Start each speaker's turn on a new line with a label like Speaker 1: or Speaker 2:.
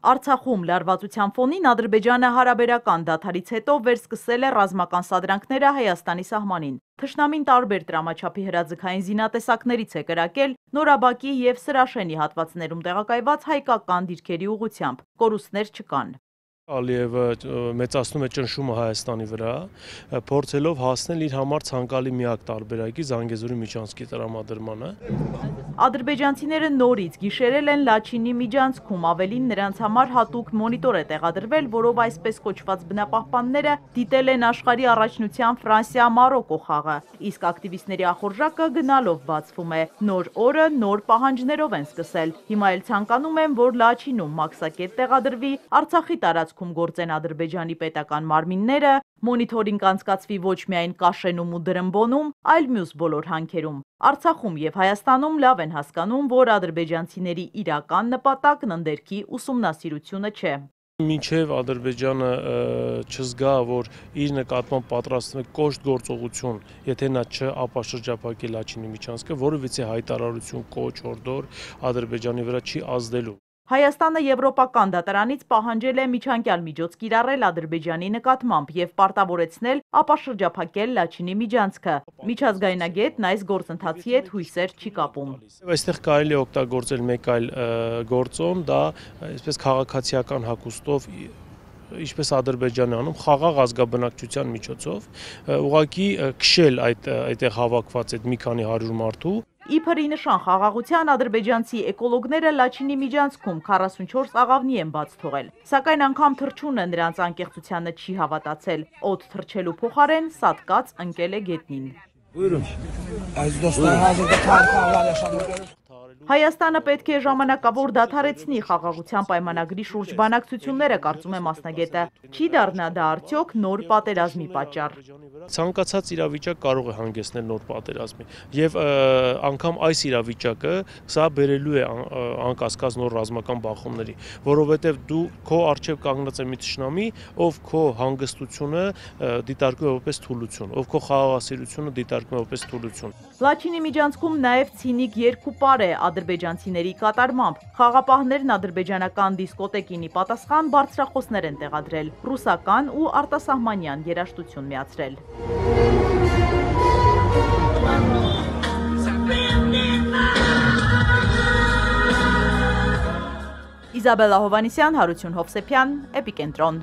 Speaker 1: Արցախում լարվածության ֆոնին Ադրբեջանը հարաբերական դադարից հետո վերսկսել է ռազմական սադրանքները Հայաստանի սահմանին։ Թշնամին տարբեր տրամաչափի հրաձգային զինատեսակներից է կրակել Նորաբակի և Սրաշենի հատվածներում տեղակայված հայկական դիրքերի ուղղությամբ։ Կորուստներ չկան։
Speaker 2: Ալիևը մեծացնում է ճնշումը Հայաստանի վրա, փորձելով հասնել իր համար ցանկալի միակ տարբերակի Զանգեզուրի միջանցքի տրամադրմանը։
Speaker 1: Ադրբեջանցիները նորից գիշերել են Լաչինի միջանցքում, ավելին նրանց համար հատուկ մոնիտոր է տեղադրվել, որով այսպես կոչված բնապահպանները դիտել են աշխարհի առաջնության Ֆրանսիա-Մարոկո խաղը, իսկ ակտիվիստների ախորժակը գնալով բացվում է։ Նոր օրը նոր պահանջներով են սկսել։ Հիմա էլ ցանկանում են, որ Լաչինում մաքսակետ տեղադրվի, Արցախի տարածքում գործեն Ադրբեջանի պետական մարմինները, մոնիթորինգ անցկացվի ոչ միայն Կաշենում ու Դրմբոնում, այլ մյուս բոլոր հանքերում։ Արցախում և Հայաստանում լավ են հասկանում, որ ադրբեջանցիների իրական նպատակն ընդերքի ուսումնասիրությունը չէ։
Speaker 2: Մինչև Ադրբեջանը չզգա, որ իր նկատմամբ պատրաստվում է կոշտ գործողություն, եթե նա չապաշրջափակի Լաչինի միջանցքը, որովհետեւ հայտարարություն, կոչ, հորդոր Ադրբեջանի վրա չի ազդելու։
Speaker 1: Հայաստանը Եվրոպական դատարանից պահանջել է միջանկյալ միջոց կիրառել Ադրբեջանի նկատմամբ և պարտավորեցնել ապաշրջափակել Լաչինի միջանցքը։ Միջազգայնագետն այս գործընթացի հետ հույսեր չի կապում։
Speaker 2: Այստեղ կարելի է օգտագործել մեկ այլ գործոն, դա այսպես քաղաքացիական հագուստով ինչպես Ադրբեջանը անում, խաղաղ ազգաբնակչության միջոցով, ուղղակի քշել այդտեղ հավաքված այդ մի քանի 100 մարդու։
Speaker 1: Իբրի նշան խաղաղության ադրբեջանցի էկոլոգները Լաչինի միջանցքում 44 աղավնի են բաց թողել, սակայն անգամ թռչունը նրանց անկեղծությանը չի հավատացել, օդ թռչելու փոխարեն սատկած ընկել է գետնին։ Հայաստանը պետք է ժամանակավոր դադարեցնի խաղաղության պայմանագրի շուրջ բանակցությունները, կարծում է մասնագետը։ Չի դառնա դա արդյոք նոր պատերազմի պատճառ։
Speaker 2: Ցանկացած իրավիճակ կարող է հանգեցնել նոր պատերազմի, եւ անգամ այս իրավիճակը սա բերելու է անկասկած նոր ռազմական բախումների, որովհետեւ դու քո արժեվ կանգնած է մի թշնամի, ով քո հանգստությունը դիտարկում է որպես թուլություն, ով քո խաղաղասիրությունը դիտարկում է որպես թուլություն։
Speaker 1: Լաչինի միջանցքում նաև ցինիկ երկուպար է ադրբեջանցիների կատարմամբ։ Խաղապահներն ադրբեջանական դիսկոտեկինի պատասխան բարձրախոսներ են տեղադրել, ռուսական ու արտասահմանյան երաժշտություն միացրել։ Իզաբելլա Հովհաննիսյան, Հարություն Հովսեփյան, Էպիկենտրոն։